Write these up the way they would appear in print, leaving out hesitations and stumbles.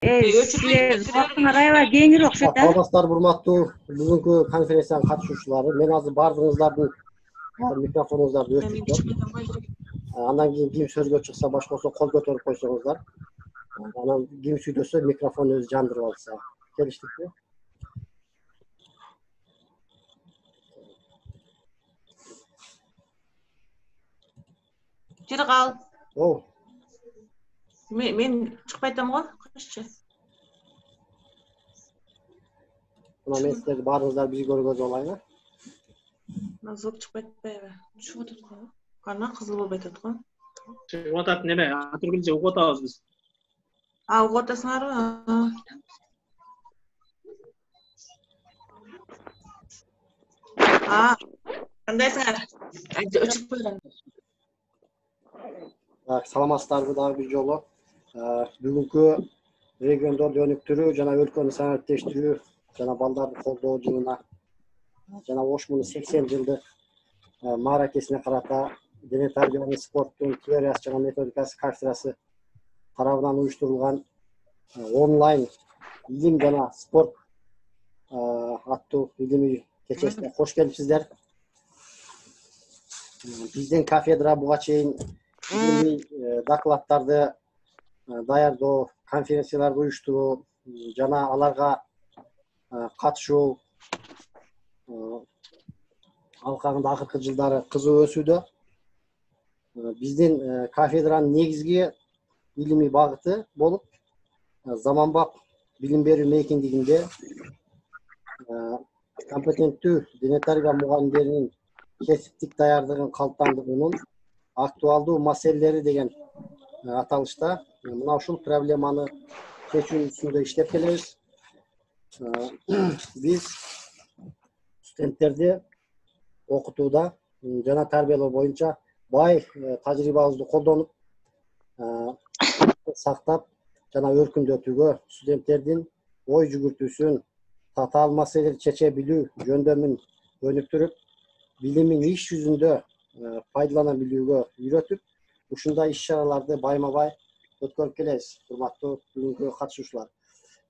Силер убактыңар аябай кеңири окшойт да. Саламатсыздарбы урматтуу бүгүнкү конференциянын катышуучулары. Мен азыр баардыгыңыздардын микрофонуңуздарды өчүрдүм. Андан кийин ким сөзгө чыкса, баш болсо кол көтөрүп койсоңуздар. Анан ким сүйлөсө микрофону өзү жандырып алса. Келиштикпи? Жери кал. Мен чыкпай атам го. Кышчы. Мына мен силерди баарыңыздар биз көргөзүп алайын. Мына звук чыкпай атпайбы? Чыгып атат го. Кана кызыл болбой атат го. Чыгып атат неме? Атыргүлчө угуп атабыз биз. Угуп атасыңарбы? Кандайсыңар? Өчүп койгон. Саламатсыздарбы дагы бир жолу. Бүгүнкү региондорду өнүктүрүү жана өлкөнү санариптештирүү жана балдарды колдоо жылына жана Ошмунун 80 жылдык мааракесине карата дене тарбиянын спорттун теориясы жана методикасы кафедрасы тарабынан уюштурулган онлайн илим жана спорт аттуу илимий кечесине кош келипсиздер. Биздин кафедра буга чейин илимий докладдарды даярдоо, конференцияларды уюштуруу жана аларга катышуу алкагында акыркы жылдары кызуу өсүүдө. Биздин кафедранын негизги илимий багыты болуп, заманбап билим берүү мейкиндигинде компетенттүү дене тарбия мугалимдеринин кесиптик даярдыгын калыптандыруунун актуалдуу маселелери деген аталышта мына ушул проблеманы чечүү үстүндө иштеп келебиз. Биз студенттерди окутууда жана тарбиялоо боюнча бай тажрыйбабызды колдонуп, сактап жана өркүндөтүүгө студенттердин ой жүгүртүүсүн, татаал маселелерди чече билүү жөндөмүн өнүктүрүп, билимин иш жүзүндө пайдалана билүүгө үйрөтүп, ушундай иш-чараларды байма-бай өткөрүп келебиз, урматтуу бүгүнкү катышуучулар.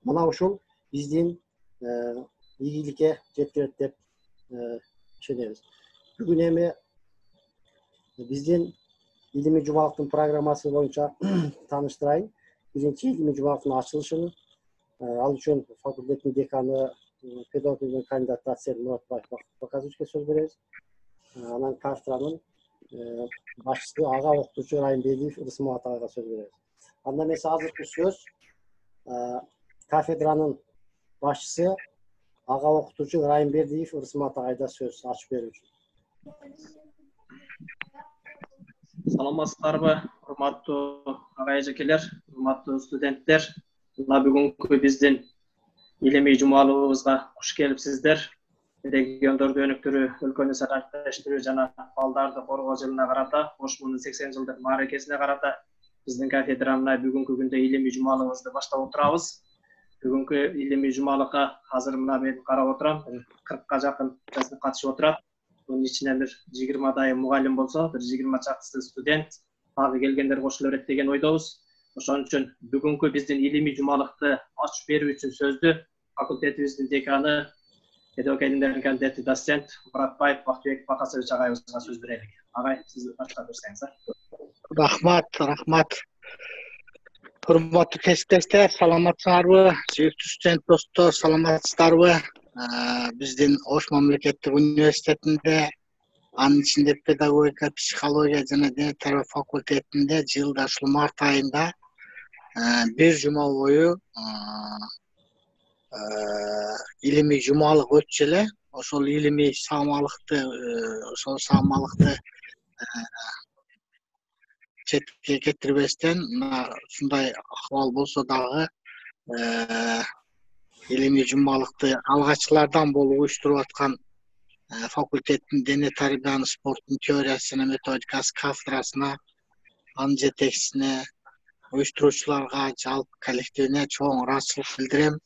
Мына ушул биздин ийгиликке жеткирет деп ишенебиз. Бүгүн эми биздин илимий жумалыктын программасы боюнча тааныштырайын. Биринчи илимий жумалыктын ачылышын ал үчүн факультеттин деканы, педагогика кандидаты доцент Муратбаев Баказовичке сөз беребиз. Анан кафедранын башчысы ага окутуучу Райымбедиев Рысмат агайга сөз беребиз. Андан эмесе азыркы сөз кафедранын башчысы ага окутуучу Райымбедиев Рысмат агайда сөз ачып берүү үчүн. Саламатсыздарбы, урматтуу агай эжекелер, урматтуу студенттер. Мына бүгүнкү биздин илимий жумалыбызга куш келипсиздер. Региондорду өнүктүрүү, өлкөнү санариптештирүү жана балдарды коргоо жылына карата, Ошмунун 80 жылдык мааракесине карата биздин кафедрамына бүгүнкү күндө илимий жумалыбызды баштап отурабыз. Бүгүнкү илимий жумалыкка азыр мына мен карап отурам, 40ка жакын катышып отурат. Bunun içine bir 20 mugallim bolsa, bir 20 çakısı student, abi gelgenler koşulur et degen oydabız. Oşon üçün bugünkü bizdin ilimi jumalıkты açıp berүү üçün sözdü fakultetimizin dekanı, pedagogika ilimlerinin kandidati doçent Muratbayev Bakbek Bakasovich agayыбызга söz berelik. Agay, siz başlap berсеңиз. Rahmat. Hurmatlı kesipdaşlar, salamatсыздарбы? Сүйүктүү студент достор, саламатсыздарбы? Биздин Ош мамлекеттик университетинде, анын ичинде педагогика, психология жана дене тарбия факультетинде жылда ушул март айында бир жума бою илимий жумалык өтчү эле. Ошол илимий саамалыкты четке кетирбестен, ушундай акыбал болсо дагы илимий жумалыкты алгачкылардан болуп уюштуруп аткан факультеттин дене тарбиянын спорттун теориясы жана методикасы кафедрасына, анын жетекчисине, уюштуруучуларга, жалпы коллективине чоң ыраазычылык билдирем.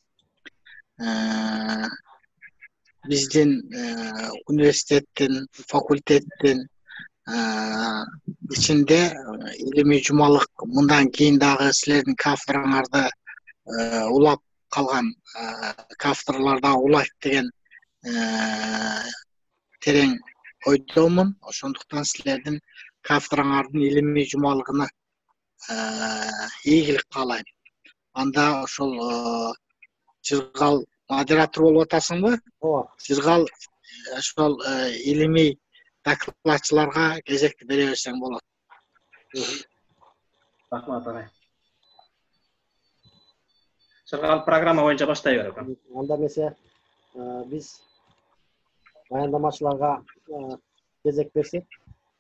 Биздин университеттин, факультеттин ичинде илимий жумалык мындан кийин дагы силердин кафедраңарды улап калган кафедрлар да улайт деген терең ойдомун. Ошондуктан силердин кафедраңардын илимий жумалыгына ийгилик каалайм. Анда ошол Жыргал модератор болуп атасыңбы? Ооба. Жыргал ошол илимий докладчыларга кезекти бере берсең болот. Рахмат агай. Жыргал программа боюнча баштай берет. Анда эмесе биз баяндамачыларга кезек берсек,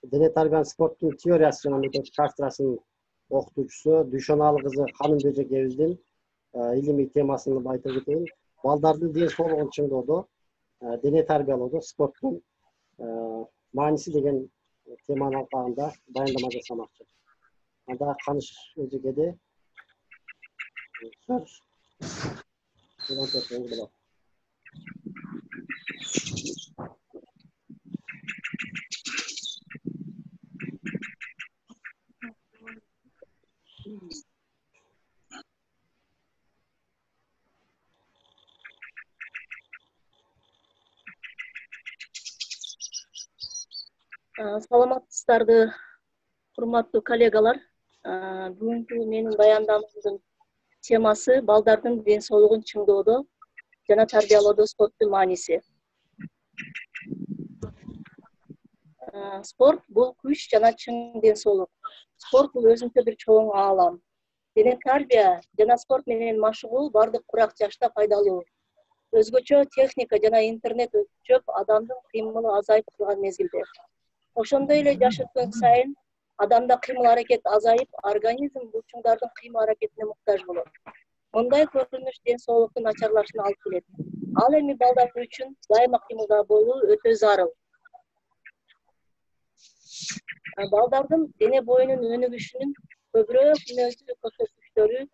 дене тарбиянын спорттун теориясы жана методика кафедрасынын окутуучусу Дүйшөналы кызы Ханымбежекебиздин илимий темасын айтып кетейин. Балдардын ден соолугун чыңдоодо, дене тарбиялоодо спорттун мааниси деген теманын алкагында баяндама жасамакчы. Анда Каныш эжекеде сөз болот. Саламатсыздарбы, урматтуу коллегалар. Бүгүнкү менин баяндамамдын темасы балдардын ден соолугун чыңдоодо жана тарбиялоодо спорттун мааниси. Спорт бул күч жана чың ден соолук. Спорт бул өзүнчө бир чоң аалам. Дене тарбия жана спорт менен машыгуу бардык курак жашта пайдалуу. Өзгөчө техника жана интернет өтүп, адамдын кыймылы азайып турган мезгилде. Ошондой эле жаш өткөн сайын адамда кыймыл аракет азайып, организм булчуңдардын кыймыл аракетине муктаж болот. Мындай көрүнүш ден соолуктун начарлашына алып келет. Ал эми балдар үчүн дайыма кыймылда болуу өтө зарыл. Балдардын дене боюнун өнүгүшүнүн көбүрөөк мүнөздүү көрсөткүчтөрү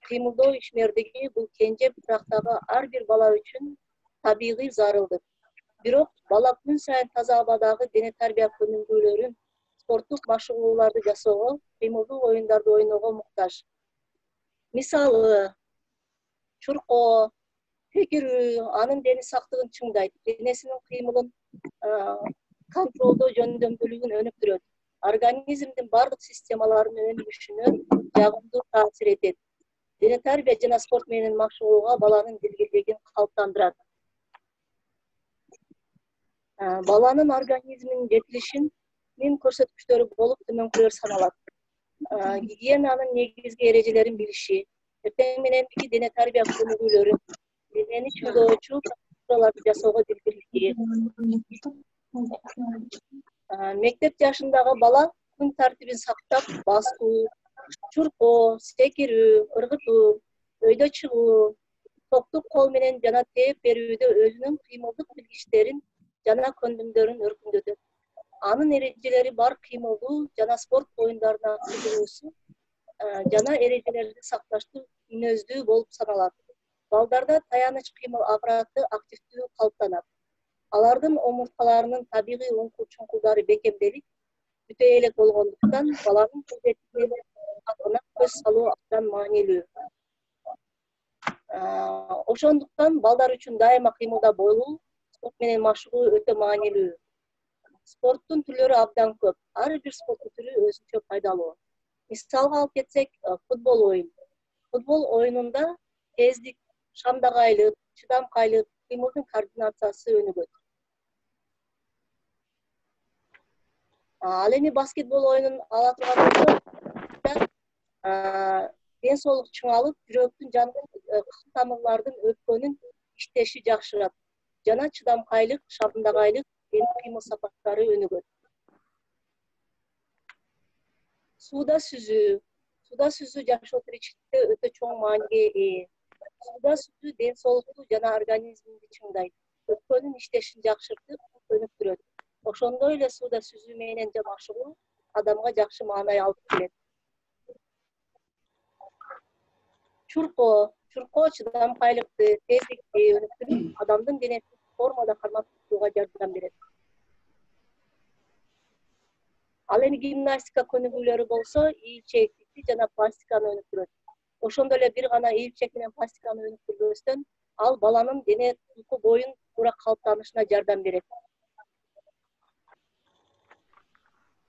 кыймылдоо ишмердиги бул кенже бутактагы ар бир бала үчүн табигый зарылдык. Бирок бала күн сайын таза абадагы дене тарбия көнүгүүлөрүн, спорттук машыгууларды жасоого, кыймылдуу оюндарды ойноого муктаж. Мисалы, чуркоо, секирүү анын дени сактыгын чыңдайт, денесинин кыймылын контролдоо жөндөмдүүлүгүн өнүктүрөт. Организмдин бардык системаларынын өнүгүшүнө жагымдуу таасир этет. Дене тарбия жана спорт менен машыгууга баланын дилгирлигин калыптандырат. Баланын организминин жетилишинин көрсөткүчтөрү болуп төмөнкүлөр саналат. Гигиенанын негизги эрежелерин билиши, эртең мененки дене тарбия көнүгүүлөрүн, денени чыңдоочу процедураларды жасоого дилгирлиги. Мектеп жашындагы бала күн тартибин сактап, басуу, чуркоо, секирүү, ыргытуу, өйдө чыгуу, топтук кол менен жана тээп берүүдө өзүнүн кыймылдык билгичтерин жана көндүмдөрүн өркүндөтөт. Анын эрежелери бар кыймылдуу жана спорт оюндарына кызыгуусу жана эрежелерди сакташтуу мүнөздүү болуп саналат. Балдарда таяныч кыймыл аппараты активдүү калыптанат. Алардын омурткаларынын табигый уңкул-чуңкулдары бекемделип, бүтө элек болгондуктан баланын кызметине көз салуу абдан маанилүү. Ошондуктан балдар үчүн дайыма кыймылда болуу, спорт менен машыгуу өтө маанилүү. Спорттун түрлөрү абдан көп. Ар бир спорттун түрү өзүнчө пайдалуу. Мисалга алып кетсек, футбол оюн. Футбол оюнунда тездик, шамдагайлык, чыдамкайлык, кыймылдын координациясы өнүгөт. Ал эми баскетбол оюнун ала турган болсок, ден соолук чыңалып, жүрөктүн жана кан тамырлардын өпкөнүн иштеши жакшырат жана чыдамкайлык, шамдагайлык, кыймыл сапаттары өнүгөт. Сууда сүзүү жашоо тиричиликте өтө чоң мааниге ээ. Сууда сүзүү ден соолукту жана организмди чыңдайт, өпкөнүн иштешин жакшыртып, өнүктүрөт. Ошондой эле сууда сүзүү менен машыгуу адамга жакшы маанай алып келет. Чуркоо чыдамкайлыкты, тездикти өнүктүрүп, адамдын денесин формада кармап турууга жардам берет. Ал эми гимнастика көнүгүүлөрү болсо, ийчектикти жана пластиканы өнүктүрөт. ошондой эле бир гана ийилчек менен пластиканы өнүктүрбөстөн ал баланын дене тулку боюн туура калыптанышына жардам берет.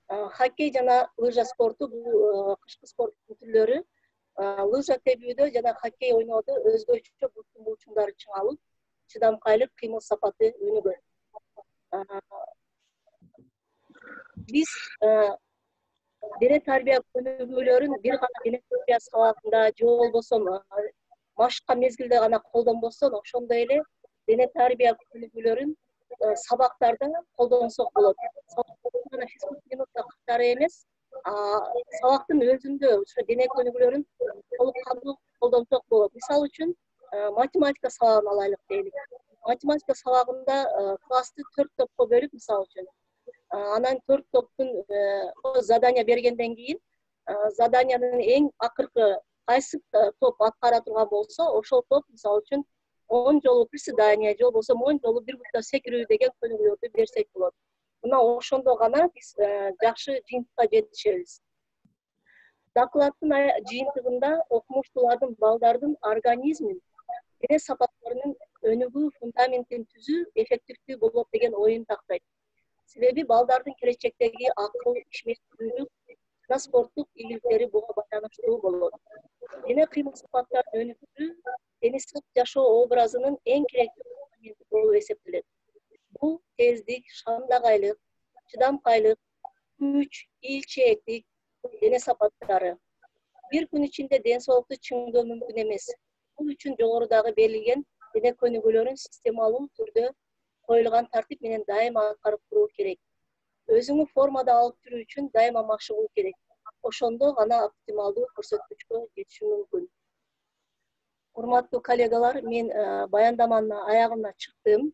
Хоккей жана лыжа спорту бул кышкы спорттун түрлөрү. Лыжа тебүүдө жана хоккей ойноодо өзгөчө буттун булчуңдары чыңалып, чыдамкайлык, кыймыл сапаты өнүгөт. Биз дене тарбия өнүгүүлөрүн бир гана дене тарбия сабагында же болбосо машыкка мезгилде гана колдонбостон, ошондой эле дене тарбия өнүгүүлөрүн сабактарда колдонсок болот. Сабактарда физкултура минутта катары эмес, сабактын өзүндө ошо дене өнүгүүлөрүн толук кандуу колдонсок болот. Мисалы үчүн математика сабагын алайлык дейли. Математика сабагында классты 4 топко бөлүп, мисалы үчүн анан 4 топтун задания бергенден кийин заданиянын эң акыркы кайсы топ аткара турган болсо, ошол топ мисалы үчүн 10 жолу приседание же болбосо 10 жолу бир бутта секирүү деген көнүгүүлөрдү берсек болот. Мына ошондо гана биз жакшы жыйынтыкка жетишебиз. Докладдын жыйынтыгында окумуштуулардын балдардын организмин, дене сапаттарынын өнүгүү фундаментин түзүү эффективдүү болот деген оюн тактайт. Себеби балдардын келечектеги акыл, ишмердүүлүк жана спорттук ийгиликтери буга байланыштуу болот. Дене кыймыл сапаттарын өнүктүрүү денисиз жашоо образынын эң керектүү компоненти болуп эсептелет. Бул тездик, шамдагайлык, чыдамкайлык, күч, ийилчээктик дене сапаттары. Бир күн ичинде ден соолукту чыңдоо мүмкүн эмес. Бул үчүн жогорудагы берилген дене көнүгүүлөрүн системалуу түрдө коюлган тартип менен дайыма аткарып туруу керек. Өзүңү формада алып жүрүү үчүн дайыма машыгуу керек. Ошондо гана оптималдуу көрсөткүчкө жетишүү мүмкүн. Урматтуу коллегалар, мен баяндаманын аягына чыктым.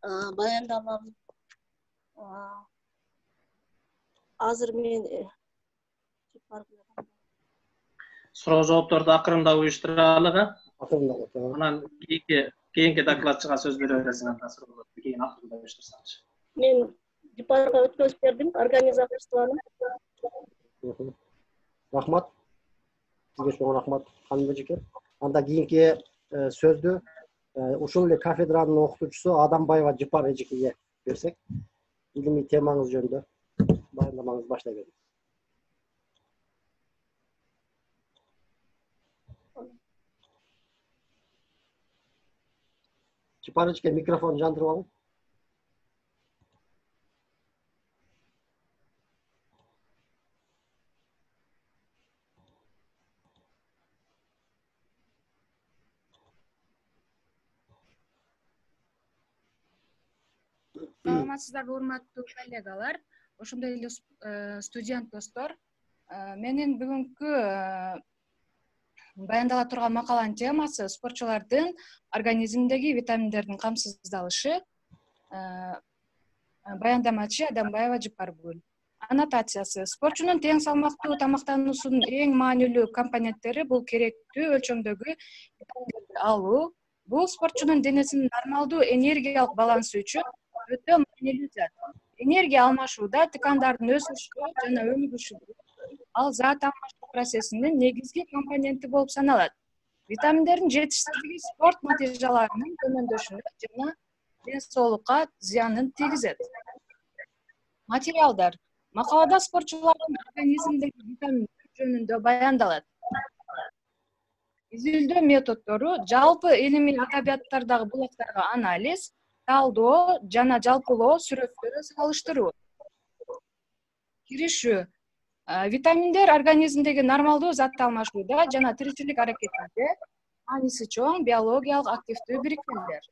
Баяндамам азыр мен суроо жоопторду акырындап уюштуралык. Акырындап. Анан кийинки докладчыга сөз бере бересиң, анда суроолорду кийин акырындап уюштурсаңыз. Мен Жипарга өткөзүп бердим, организаторствону. Рахмат. Сизге чоң рахмат, ханым эжеке. Анда кийинки сөздү ушул эле кафедранын окутуучусу Адамбаева Жипар эжекеге берсек, илимий темаңыз жөнүндө баяндамаңызды баштай бериңиз. Жипар эжеке, микрофон жандырып алың. Саламатсыздарбы, урматтуу коллегалар, ошондой эле студент достор. Менин бүгүнкү баяндала турган макаланын темасы спортчулардын организминдеги витаминдердин камсыздалышы. Баяндамачы Адамбаева Жипаргүл. Аннотациясы: спортчунун тең салмактуу тамактануусунун эң маанилүү компоненттери бул керектүү өлчөмдөгү витаминдерди алуу. Бул спортчунун денесинин нормалдуу энергиялык балансы үчүн өтө маанилүү зат. Энергия алмашууда тыкандардын өсүшү жана өнүгүшү ал зат алмашуу процессинин негизги компоненти болуп саналат. Витаминдердин жетишсиздиги спорт натыйжаларынын төмөндөшүнө жана ден соолукка зыянын тийгизет. Материалдар. Макалада спортчулардын организминдеги витаминдер жөнүндө баяндалат. Изилдөө методдору, жалпы илимий адабияттардагы булактарга анализ, талдоо жана жалпылоо сүрөттөрү салыштыруу. Киришүү. Витаминдер организмдеги нормалдуу затты алмашууда жана тиричилик аракетинде мааниси чоң биологиялык активдүү бирикмелер.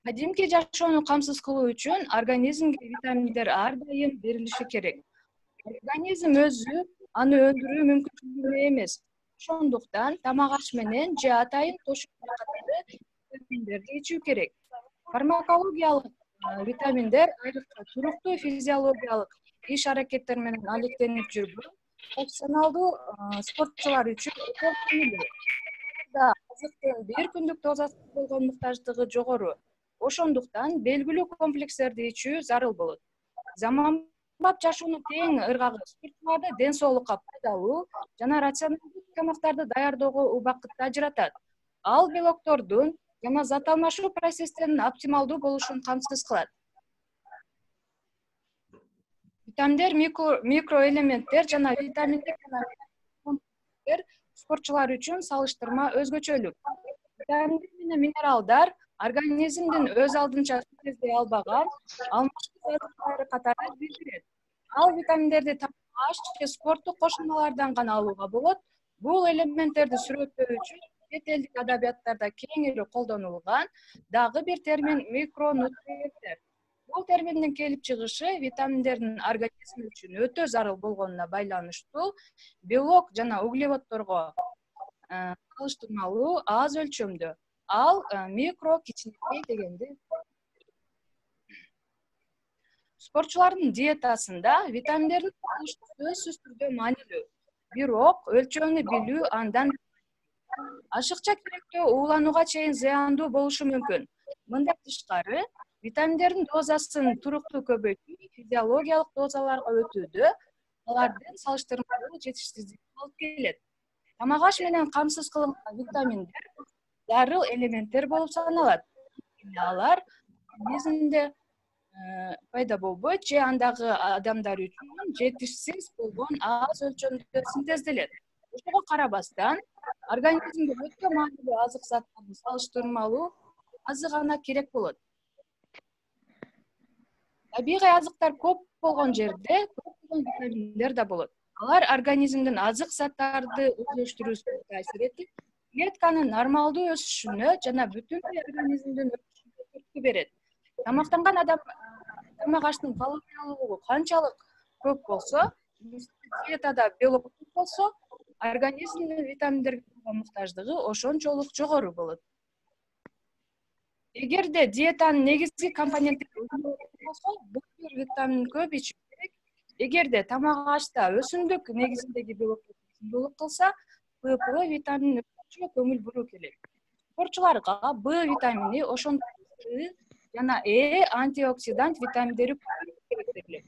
Кадимки жашоону камсыз кылуу үчүн организмге витаминдер ар дайым берилиши керек. Организм өзү аны өндүрүү мүмкүнчүлүгү эмес. Ошондуктан тамак аш менен же атайын тошуктар катары витаминдерди ичүү керек. Фармакологиялык витаминдер айрыкча туруктуу физиологиялык иш аракеттер менен алектенип жүрбөй, профессионалдуу спортчулар үчүн өтө маанилүү. Азыктын бир күндүк дозасы болгон муктаждыгы жогору. Ошондуктан белгилүү комплекстерди ичүү зарыл болот. Заманбап жашоонун тең ыргагы спортчуларды ден соолукка пайдалуу жана рационалдуу тамактарды даярдоого убакытты ажыратат. Ал белоктордун жана зат алмашуу процесстеринин оптималдуу болушун камсыз кылат. Витаминдер, микроэлементтер жана витаминдик компоненттер спортчулар үчүн салыштырма өзгөчөлүк. Витаминдер менен минералдар организмдин өз алдынча синтездей албаган алмаштуу заттары катары билдирет. Ал витаминдерди тамак же спорттук кошулмалардан гана алууга болот. Бул элементтерди сүрөттөө үчүн чет элдик адабияттарда кеңири колдонулган дагы бир термин микронутриенттер. Бул терминдин келип чыгышы витаминдердин организм үчүн өтө зарыл болгонуна байланыштуу белок жана углеводдорго салыштырмалуу аз өлчөмдө. Ал микро кичинекей дегенди. Спортчулардын диетасында витаминдердин алышы сөзсүз түрдө маанилүү. Бирок өлчөмүн билүү андан ашыкча керектөө ууланууга чейин зыяндуу болушу мүмкүн. Мындан тышкары, витаминдердин дозасын туруктуу көбөйтүү физиологиялык дозаларга өтүүдө алардын салыштырмалуу жетишсиздигине алып келет. Тамак аш менен камсыз кылынган витаминдер зарыл элементтер болуп саналат. Алар организмде пайда болбойт же андагы адамдар үчүн жетишсиз болгон аз өлчөмдө синтезделет. Ошого карабастан, организмге өтө маанилүү азык заттардын салыштырмалуу азы гана керек болот. Табигый азыктар көп болгон жерде көптөгөн витаминдер да болот. Алар организмдин азык заттарды өзлөштүрүүсүнө таасир этип, клетканын нормалдуу өсүшүнө жана бүтүн организмдин өсүшүнө түрткү берет. Тамактанган адам тамак аштын калориялуулугу канчалык көп болсо, диетада белок көп болсо, организмдин витаминдерге болгон муктаждыгы ошончолук жогору болот. Эгерде диетанын негизги компоненттери болсо, бул бир витамин көп ичүү керек. Эгерде тамак ашта өсүмдүк негизиндеги белоктор болуп калса, Б витаминин өсүшүнө көңүл буруу керек. Спортчуларга Б витамини ошондой С жана Э антиоксидант витаминдери керектелет.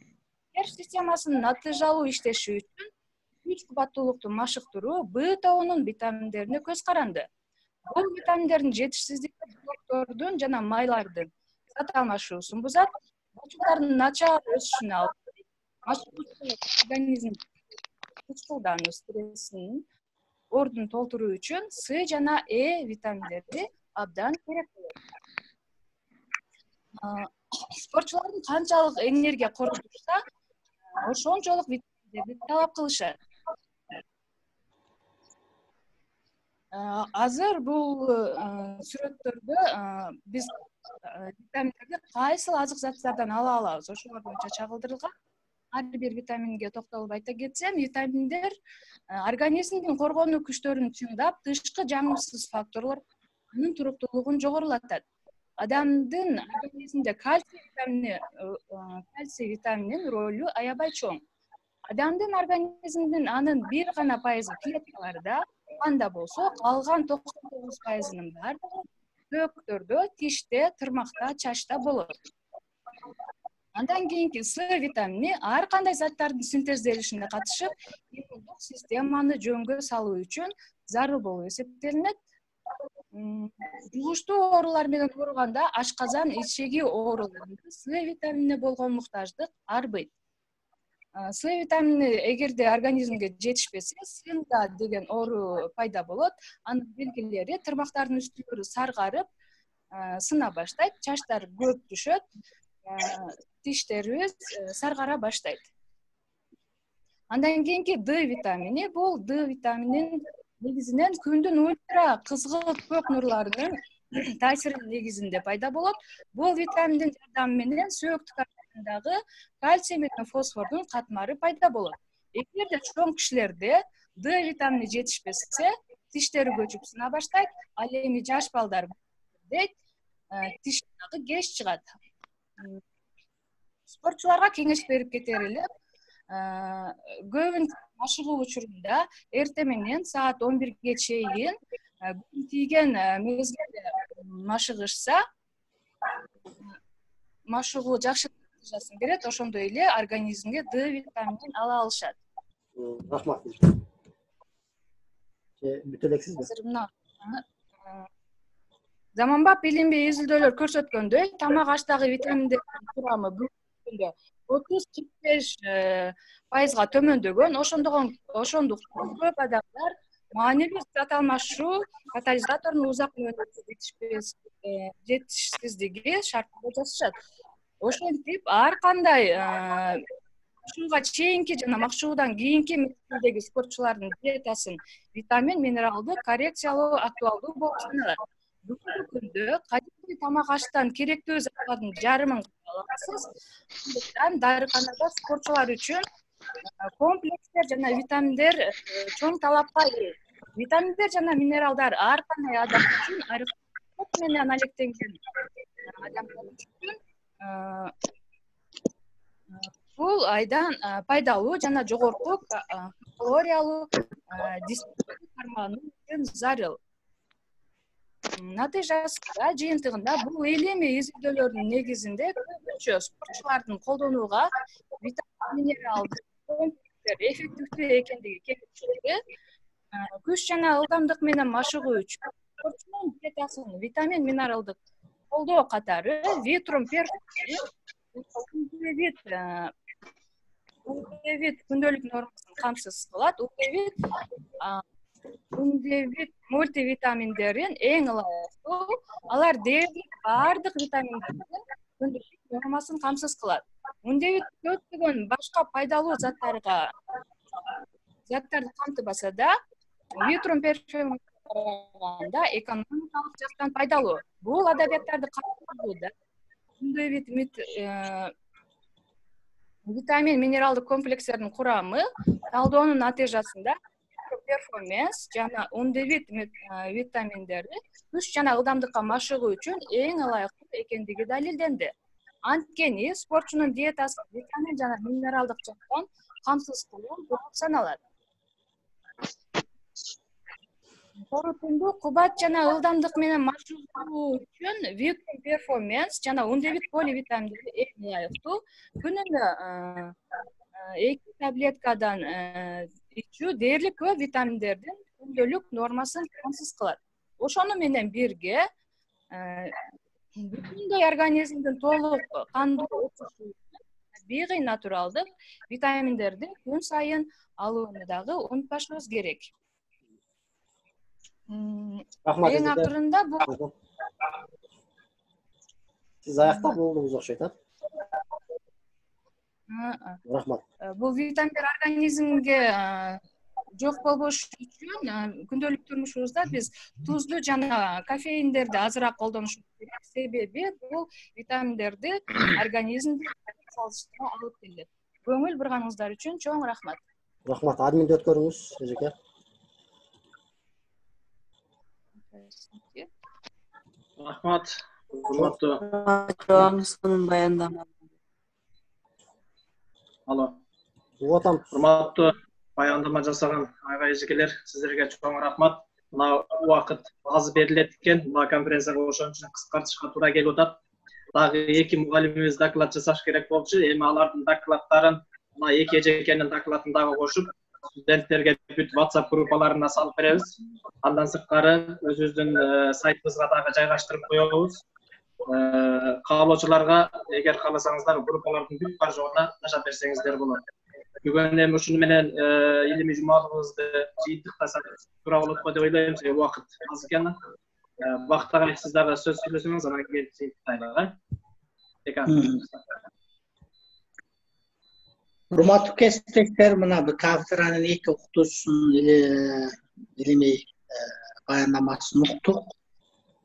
Тер системасынын натыйжалуу иштеши үчүн күч кубаттуулукту машыктыруу Б тобунун витаминдерине көз каранды. Бул витаминдердин жетишсиздиги белоктордун жана майлардын зат алмашуусун бузат, булчуктардын начар өсүшүнө алып келет. Организм кучкулдануу стрессинин ордун толтуруу үчүн С жана Э витаминдери абдан керек болот. Спортчулардын канчалык энергия короштурса, ошончолук витаминдерди талап кылышат. Азыр бул сүрөттөрдө биз витаминдерди кайсыл азык заттардан ала алабыз, ошолор боюнча чагылдырылган. Ар бир витаминге токтолуп айта кетсем, витаминдер организмдин коргонуу күчтөрүн чыңдап, тышкы жаңырсыз факторлор анын туруктуулугун жогорулатат. Адамдын организминде кальций витамининин ролу аябай чоң. Адамдын организминин анын 1% клеткаларда канда болсо, калган 99%-ынын баардыгы сөөктөрдө, тиште, тырмакта, чачта болот. Андан кийинки С витамини ар кандай заттардын синтезделишине катышып, иммундук системаны жөнгө салуу үчүн зарыл болуп эсептелинет. Жугуштуу оорулар менен ооруганда ашказан, ичеги ооруларында С витаминине болгон муктаждык арбыйт. С витамини эгерде организмге жетишпесе, сында деген оору пайда болот. Анын белгилери тырмактардын үстүлөрү саргарып, сына баштайт, чачтар көп түшөт, тиштерибиз саргара баштайт. Андан кийинки Д витамини, бул Д витамининин негизинен күндүн ультра кызгылт көк нурларынын таасиринин негизинде пайда болот. Бул витаминдин жардамы менен сөөктүк арасындагы кальций менен фосфордун катмары пайда болот. Эгерде чоң кишилерде Д витамини жетишпесе, тиштери көчүп сына баштайт, ал эми жаш балдар дейт, тиш дагы кеч чыгат. Спортчуларга кеңеш берип кетер элем, көбүнчө машыгуу учурунда эртең менен саат 11ге чейин күн тийген мезгилде машыгышса, машыгуу жакшы натыйжасын берет, ошондой эле организмге Д витаминин ала алышат. Рахмат. Бүтө элексизби? Азыр мына заманбап илимий изилдөөлөр көрсөткөндөй, тамак аштагы витаминдердин курамы бүгүнкү күндө 30-45% төмөндөгөн. Ошондуктан көп адамдар маанилүү зат алмашуу катализатордун узак мөөнөттүү жетишсиздиги шартында жашашат. Ошентип ар кандай ушуга чейинки жана макшуудан кийинки мезгилдеги спортчулардын диетасын витамин, минералды коррекциялоо актуалдуу болуп саналат. Бүгүнкү күндө кадимки тамак аштан керектүү заттардын жарымын аласыз. Андыктан дарыканада спортчулар үчүн комплекстер жана витаминдер чоң талапка ээ. Витаминдер жана минералдар ар кандай адам үчүн менен алектенген адамдар үчүн бул айдан пайдалуу жана жогорку калориялуу кармануу үчүн зарыл. Натыйжасында жыйынтыгында бул илимий изилдөөлөрдүн негизинде көбүнчө спортчулардын колдонууга витамин, минералды комплекстер эффективдүү экендиги келиштирди. Күч жана ылдамдык менен машыгуу үчүн спортчунун диетасын витамин, минералдык колдоо катары Vitrum Uldevit күндөлүк нормасын камсыз кылат. Uldevit мультивитаминдерин эң ылайыктуу. Алар дээрлик бардык витаминдердин күндөлүк нормасын камсыз кылат. Uldevit көптөгөн башка пайдалуу заттарды камтыбаса да, Vitrum караганда экономикалык жактан пайдалуу. Бул адабияттарды камтыууда витамин, минералдык комплекстердин курамы талдоонун натыйжасында перформанс жана Uldevit витаминдери күч жана ылдамдыкка машыгуу үчүн эң ылайыктуу экендиги далилденди. Анткени спортчунун диетасы витамин жана минералдык жактан камсыз кылуу болуп саналат. Корутунду кубат жана ылдамдык менен машыгуу үчүн Vitrum Performance жана Uldevit поливитаминдери эң ылайыктуу. Күнүнө 2 таблеткадан ичүү дээрлик көп витаминдердин күндөлүк нормасын камсыз кылат. Ошону менен бирге бүтүндөй организмдин толук кандуу өтүшү бийги натуралдык витаминдерди күн сайын алууну дагы унутпашыбыз керек. Эң акырында бул сиз аякта болдуңуз окшойт, Рахмат. Бул витаминдер организмге жок болбош үчүн күндөлүк турмушубузда биз тузду жана кофеиндерди азыраак колдонушубуз керек. Себеби бул витаминдерди организмге салыштырма алып келет. Көңүл бурганыңыздар үчүн чоң рахмат. Рахмат. Админди өткөрүңүз, эжеке. Рахмат. Урматтуу. Сонун баяндама. Алло. Угатам. Урматтуу баяндама жасаган айга эжекелер, сиздерге чоң рахмат. Мына убакыт аз берилет экен. Мына конференцияга ошон үчүн кыскартышка туура келип атат. Дагы 2 мугалимибиз доклад жасаш керек болчу. Эми алардын докладдарын мына 2 эжекенин докладын дагы кошуп, студенттерге бүт WhatsApp группаларына салып беребиз. Андан сырткары өзүбүздүн сайтыбызга дагы жайгаштырып коебуз. Каалоочуларга эгер кааласаңыздар группалардын бүт бар жогуна жашап берсеңиздер болот. Бүгүн эми ушуну менен илимий жумалыбызды жыйынтыктасак туура болот го деп ойлойм. Убакыт аз экен. Бактага сиз дагы сөз сүйлөсөңүз, анан кийин жыйынтыктайлы. Урматтуу кесиптештер, мына бул кафедранын 2 окутуучусунун илимий баяндамасын уктук.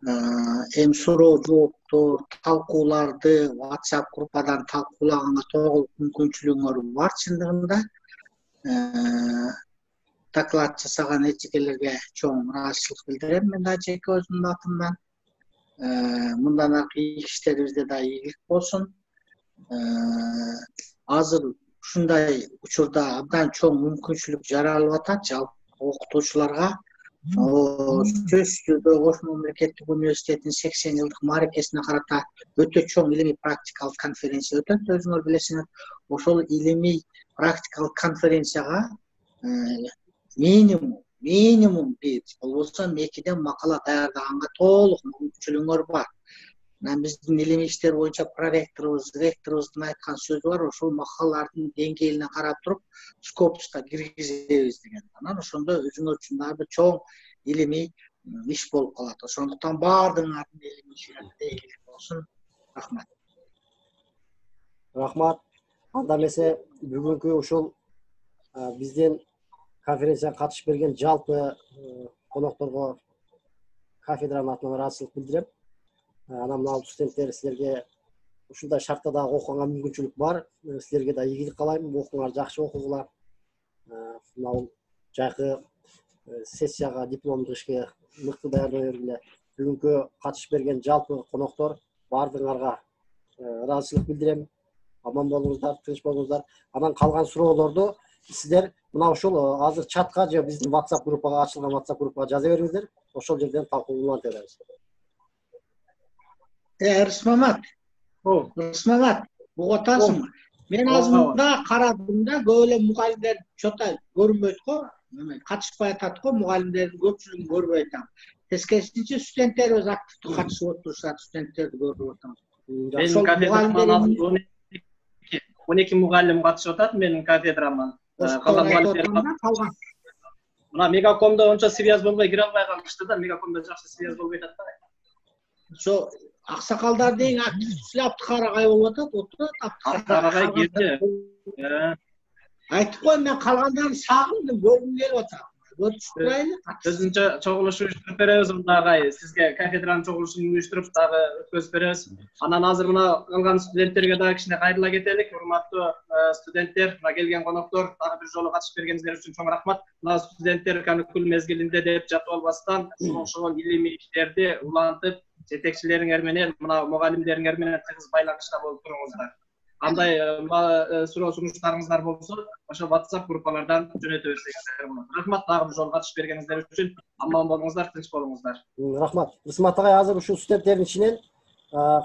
Эми суроо жооптор, талкууларды WhatsApp группадан талкуулаганга толук мүмкүнчүлүгүңөр бар чындыгында. Доклад жасаган эжекелерге чоң ыраазычылык билдирем мен да жеке өзүмдүн атымдан. Мындан аркы иштерибизде да ийгилик болсун. Азыр ушундай учурда абдан чоң мүмкүнчүлүк жаралып атат жалпы окутуучуларга. Сөзсүз Ош мамлекеттик университетинин 80 жылдык мааракесине карата өтө чоң илимий практикалык конференция өтөт, өзүңөр билесиңер. Ошол илимий практикалык конференцияга минимум минимум 1, болбосо 2ден макала даярдаганга толук мүмкүнчүлүгүңөр бар. Биздин илимий иштер боюнча проректорубуз, ректорубуздун айткан сөзү бар, ошол макалалардын деңгээлине карап туруп скопуска киргизебиз деген. Анан ошондо өзүңөр үчүн дагы чоң илимий иш болуп калат. Ошондуктан баардыгыңардын илимий ишиңерде ийгилик болсун. Рахмат. Рахмат. Анда эмесе бүгүнкү ушул биздин конференцияга катышып берген жалпы конокторго кафедранын атынан ыраазычылык билдирем. Анан мына студенттер силерге ушундай шартта дагы окуганга мүмкүнчүлүк бар. Силерге да ийгилик каалайм. Окуңар, жакшы окугула. Мына жайкы сессияга, дипломдук ишке мыкты даярдана бергиле. Бүгүнкү катышып берген жалпы коноктор баардыгыңарга ыраазычылык билдирем. Аман болуңуздар, тынч болуңуздар. Анан калган суроолорду сиздер мына ушул азыр чатка же биздин WhatsApp группага, ачылган WhatsApp группага жаза бериңиздер. Ошол жерден талкууланып беребиз. Рысмамат. Рысмамат, угуп атасыңбы? Мен азырында карадым да, көп эле мугалимдер чота көрүнбөйт го, катышпай атат го, мугалимдердин көпчүлүгүн көрбөй атам. Тескерисинче студенттерибиз активдүү катышып отурушат, студенттерди көрүп атам. Менин кафедраман 12 мугалим катышып атат менин кафедраман. Мына Мегакомдо ончо связь болбой кире албай калышты да, Мегакомдо жакшы связь болбой атат да. Ошо аксакалдар деген активдүү силе Аптыкарагай болуп атат, отурат Аптыкарагай кирди. Айтып коем, мен калгандарын сагындым, көргүм келип атат. Көрүшүп турайлы. Өзүнчө чогулуш уюштуруп беребиз мындагы, сизге кафедранын чогулушун уюштуруп дагы өткөзүп беребиз. Анан азыр мына калган студенттерге дагы кичине кайрыла кетелик. Урматтуу студенттер, мына келген коноктор, дагы бир жолу катышып бергениңиздер үчүн чоң рахмат. Мына студенттер каникул мезгилинде деп жатып албастан, ошол илимий иштерди улантып, жетекчилериңер менен, мына мугалимдериңер менен тыгыз байланышта болуп туруңуздар. Кандай суроо сунуштарыңыздар болсо, ошо WhatsApp группалардан жөнөтөбүз дегендер болот. Рахмат дагы бир жолу катышып бергениңиздер үчүн. Аман болуңуздар, тынч болуңуздар. Рахмат. Рысмат агай, азыр ушул студенттердин ичинен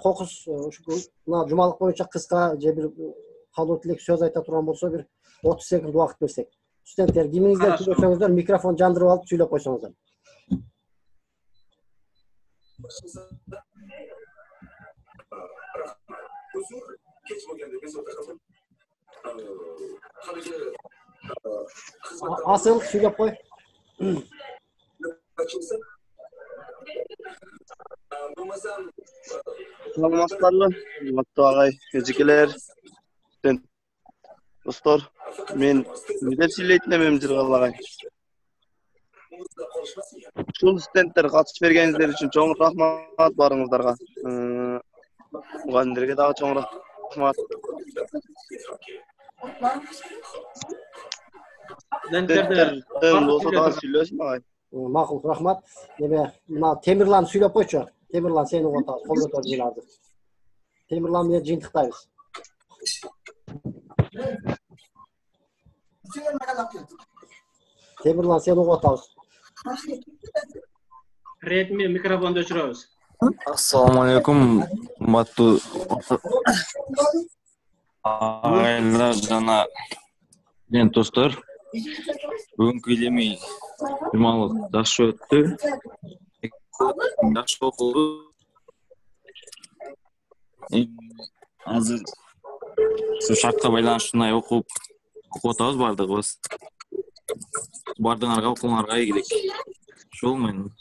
кокус мына жумалык боюнча кыска же бир калуу тилек сөз айта турган болсо, бир 30 секунд убакыт берсек. Студенттер, кимиңиздер сүйлөсөңүздөр, микрофон жандырып алып сүйлөп койсоңуздар. Асыл, сүйлөп кой. Саламатсыздарбы, урматтуу агай, эжекелер, достор. Мен деп сүйлөйт элем Жыргал агай. Ушул студенттер катышып бергениңиздер үчүн чоң рахмат баарыңыздарга. Мугалимдерге дагы чоң рахмат. Студенттерден болсо дагы сүйлөсүн агай. Макул, рахмат. Эме мына Темирлан сүйлөп койчу. Темирлан, сени угуп атабыз. Кол көтөрүп азыр. Темирлан менен жыйынтыктайбыз. Темирлан, сени угуп атабыз. Ретми микрофонду өчүрөбүз. Assalomu alaykum, урматтуу агайлар жана достор. Бүгүнкү илимий жумалык жакшы өттү. Жакшы окулду. Азыр ошо шартка байланыштуу окуп атабыз баардыгыбыз. Баардыгыңарга окууңарга ийгилик. Ошол менен.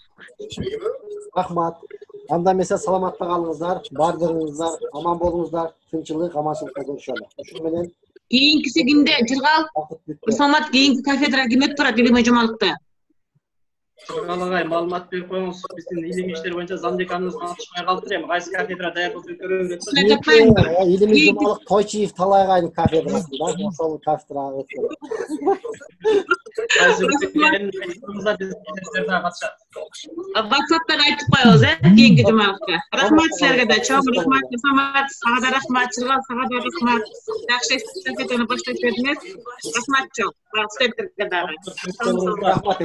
Рахмат. Анда эмесе саламатта калыңыздар, баардыгыңыздар аман болуңуздар, тынччылык, аманчылыкта көрүшөлү. Ушуну менен кийинкиси кимде? Жыргал, Рысмамат, кийинки кафедра ким өтүп турат илимий жумалыкта? Жыргал агай, маалымат берип коюңуз. Биздин илимий иштер боюнча замдеканыбыз катышпай калыптыр эми. Кайсы кафедра даярдык өткөрөбүз? илимий жумалык Тойчиев Талай агайдын кафедрасында, ошол кафедрага өткөрөбүз. WhatsApp'tan айтып коебуз, кийинки жумалыкка. Рахмат силерге да, чоң рахмат, Рысмамат, сага да рахмат, Жыргал, сага да рахмат. Жакшы эстафетаны баштап бердиңер. Рахмат чоң. Студенттерге дагы. Рахмат.